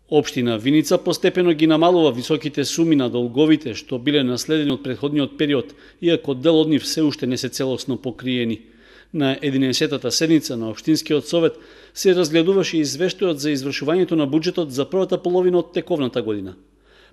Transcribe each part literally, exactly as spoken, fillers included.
Општина Виница постепено ги намалува високите суми на долговите што биле наследени од претходниот период, иако дел од нив се уште не се целосно покриени. На единаесеттата седница на Општинскиот совет се разгледуваше извештајот за извршувањето на буџетот за првата половина од тековната година.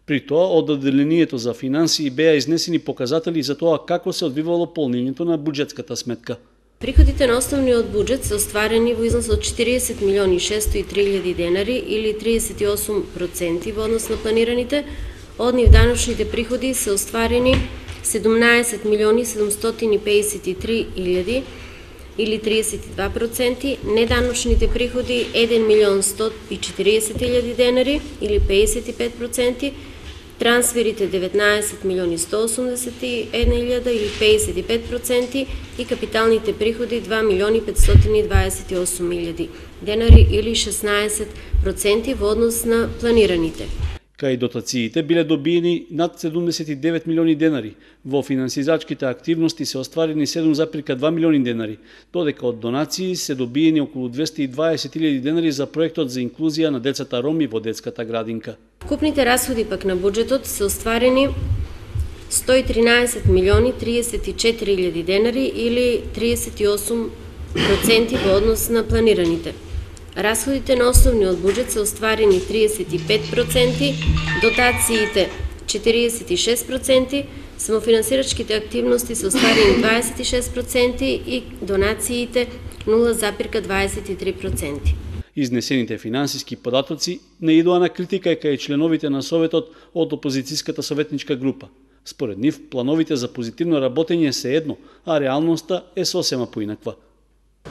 При тоа, од одделението за финансии беа изнесени показатели за тоа како се одвивало полнењето на буџетската сметка. Приходите на основниот буџет се остварени во износ од четириесет милиони шестоста и три илјади денари или триесет и осум проценти во однос на планираните. Од нив даночните приходи се остварени седумнаесет милиони седумстотини пеесет и три илјади или триесет и два проценти, неданочните приходи еден милион сто и четириесет илјади денари или пеесет и пет проценти, трансферите деветнаесет милиони сто осумдесет и една илјада или пеесет и пет проценти и капиталните приходи два милиони петстотини дваесет и осум илјади денари или шеснаесет проценти во однос на планираните. Кај дотациите биле добиени над седумдесет и девет милиони денари, во финансизачките активности се остварени седум зарез два милиони денари, додека од донации се добиени околу двесте и дваесет илјади денари за проектот за инклузија на децата роми во детската градинка. Вкупните расходи пак на буџетот се остварени сто и тринаесет милиони триесет и четири илјади денари или триесет и осум проценти во однос на планираните. Расходите на основниот буџет се остварени триесет и пет проценти, дотациите четириесет и шест проценти, самофинансирачките активности се остварени дваесет и шест проценти и донациите нула зарез дваесет и три проценти. Изнесените финансиски податоци не идоа на критика кај членовите на Советот од опозицијската советничка група. Според нив, плановите за позитивно работење се едно, а реалноста е сосема поинаква.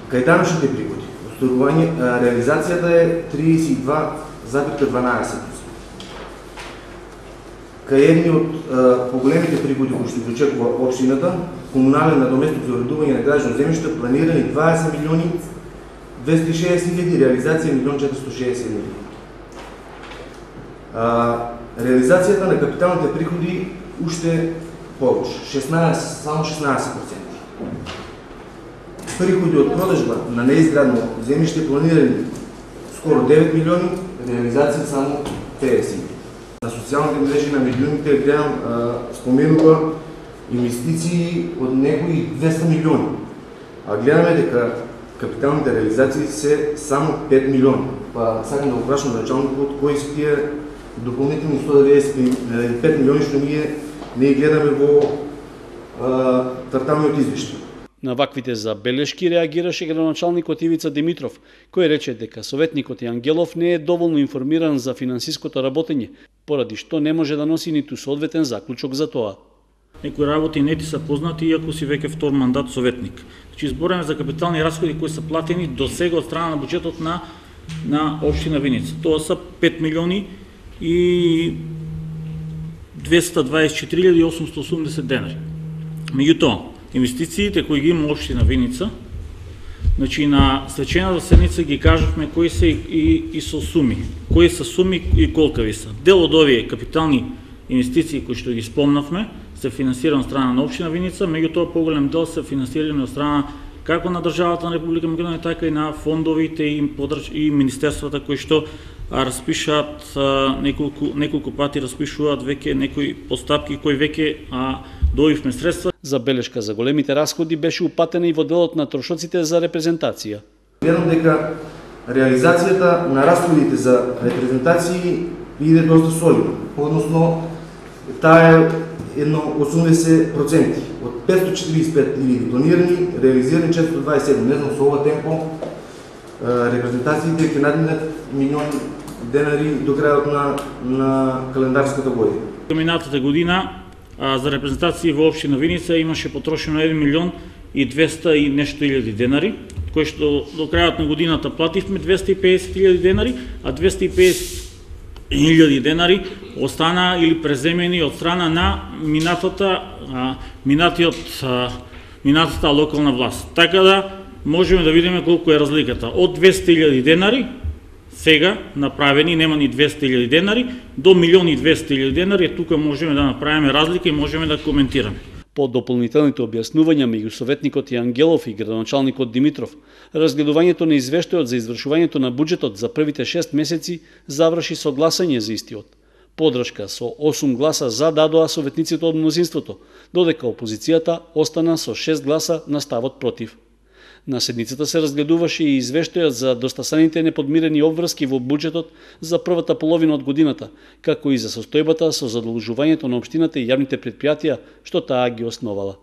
Кај даночните приходи, реализацијата е триесет и два зарез дванаесет проценти. Кај едни од поголемите приходи кои што ги очекува општината, комунален надоместок за уредување на градично земјиште, планирани дваесет милиони двесте и шеесет илјади, реализација милион четиристотини и шеесет илјади. Реализацијата на капиталните приходи уште повеќе, шеснаесет, само шеснаесет проценти. Приходи од продажба на неизградено земјиште планирани скоро девет милиони, реализација само петдесет. На социјалните мрежи на медиумите гледам споменува инвестиции од некои двесте милиони, а гледаме дека капиталните реализации се само пет милиони. Па сакам да го прашам началникот кои се тие дополнителни сто деветдесет и пет милиони што ние не гледаме во кварталниот извештај. На ваквите забелешки реагираше градоначалникот Ивица Димитров, кој рече дека советникот Јангелов не е доволно информиран за финансиското работење, поради што не може да носи ниту соодветен заклучок за тоа. Некои работи не ти се познати, иако си веќе втор мандат советник. Значи, збораме за капитални расходи кои се платени до сега од страна на буџетот на, на општина Виница. Тоа са пет милиони и двесте дваесет и четири илјади осумстотини и осумдесет денари. Меѓутоа, инвестициите кои ги има општина Виница, значи на следчената седница ги кажавме кои се и, и, и со суми, кои се суми и колкави се. Дел од овие капитални инвестиции кои што ги спомнавме се финансирани од страна на општина Виница, меѓутоа поголем дел се финансирани од страна како на државата на Република Македонија, така и на фондовите и, подрж... и министерствата кои што распишаат неколку, неколку пати распишуваат веќе некои постапки кои веќе а, добивме средства. Забелешка за големите расходи беше упатена и во делот на трошоците за репрезентација. Гледам дека реализацијата на расходите за репрезентации иде доста солидно, односно таа е едно осумдесет проценти. Од петстотини четиридесет и пет илјади планирани, реализирани четиристотини дваесет и седум. Не знам со ова темпо репрезентациите ќе надминат милион денари до крајот на, на календарската година. Минатата година а, за репрезентации во општина Виница имаше потрошено еден милион и двесте и нешто илјади денари, кои што до крајот на годината плативме двесте и педесет илјади денари, а двесте и педесет илјади денари остана или преземени од страна на минатата, а, минатиот, а, минатата локална власт. Така да можеме да видиме колку е разликата. Од двесте илјади денари сега направени, нема ни двесте илјади денари, до милион и двесте илјади денари, тука можеме да направиме разлика и можеме да коментираме. По дополнителните објаснувања меѓу советникот Јангелов и градоначалникот Димитров, разгледувањето на извештајот за извршувањето на буџетот за првите шест месеци заврши со гласање за истиот. Подршка со осум гласа за дадоа советниците од мнозинството, додека опозицијата остана со шест гласа на ставот против. На седницата се разгледуваше и извештајот за достасаните неподмирени обврски во буџетот за првата половина од годината, како и за состојбата со задолжувањето на општината и јавните претпријатија што таа ги основала.